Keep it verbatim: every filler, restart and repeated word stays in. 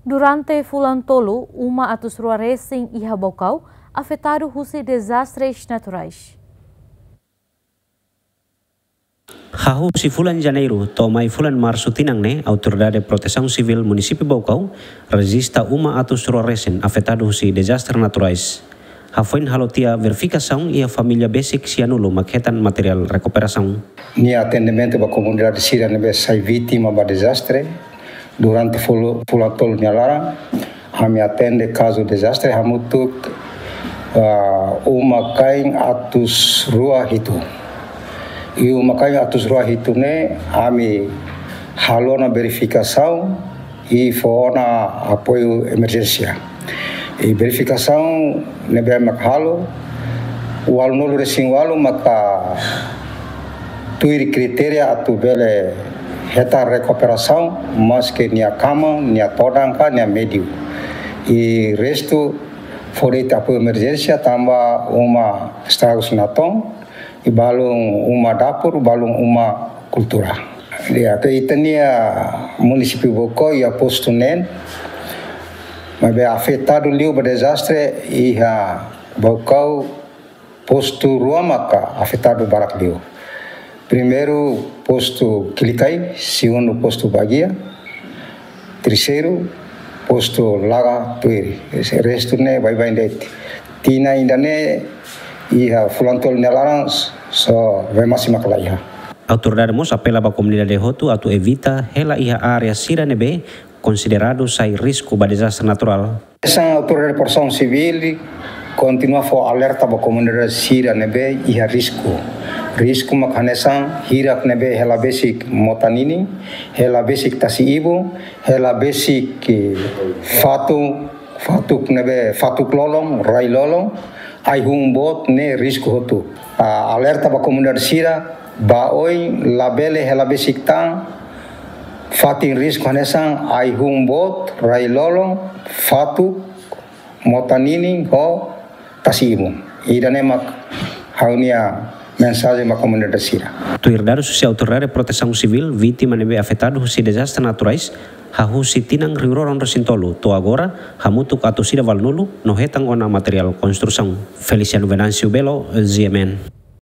Durante fulan tolu, uma atus rua resin iha Baucau afetadu husi dezastres naturais. Hahú husi fulan Janeiru to'o mai fulan Marsu tinan ne'e, Autoridade Protesaun Sivíl Munisípiu Baucau rejista uma atus rua resin afetadu husi dezastres naturais. Hafoin halo tiha verifikasaun, iha família besik sianulu mak hetan materiál rekuperasaun. Nia atendimentu ba komunidade sira ne'ebé sai vítima ba dezastre durante fulu-, fulan tolu nia laran. Ami atende kazu dezastre hamutuk, ah, uma-kain atus rua hitu. I uma-kain atus rua hitu ne'e ami halo ona verifikasaun i fó ona apoiu emerjénsia. I verifikasaun ne'ebé mak halo, ualunulu resin ualu maka tuir kritéria atu bele hetan rekuperasaun, maske nia kama, nia todan ka nia médiu. I restu fó de'it apoiu emerjénsia tanba uma estragus natoon, i balun uma dapur, balun uma kultura. Di'ak, ita-nia munisípiu Baucau iha postu neen, maibé afetadu liu ba dezastre iha Baucau, postu rua maka afetadu barak liu. Primeiru postu Kilikai, segundu postu Baguia, terseiru postu Laga Tuiri. Restu ne'e baibain de'it. Tinan ida-ne'e iha fulan tolu nia laran só Vemasse mak la iha. Autoridade mós apela ba komunidade hotu atu evita hela iha área sira ne'ebé konsideradu sai risku ba dezastre naturál. Hanesan Autoridade Protesaun Sivíl kontinua fó alerta ba komunidade sira ne'ebé iha risku. Risku mak hanesan hirak ne'ebé hela besik mota ninin, hela besik tasi-ibun, hela besik, eh, fatuk, fatuk ne'ebé fatuk lolon, rai lolon, ai-hun boot ne'e risku hotu. Ah, alerta ba komunidade sira ba oin labele hela besik tan fatin risku hanesan ai-hun boot, rai lolon, fatuk, mota ninin ho tasi-ibun. Ida-ne'e mak ha'u-nia mensajen ba komunidade sira. Tuir dadus husi Autoridade Protesaun Sivíl, vítima ne'ebé afetadu husi dezastre naturais hahú husi tinan rihun rua ruanulu resin tolu to'o agora hamutuk atus ida ualunulu no hetan ona materiál konstrusaun. Feliciano Venâncio Belo, G M N.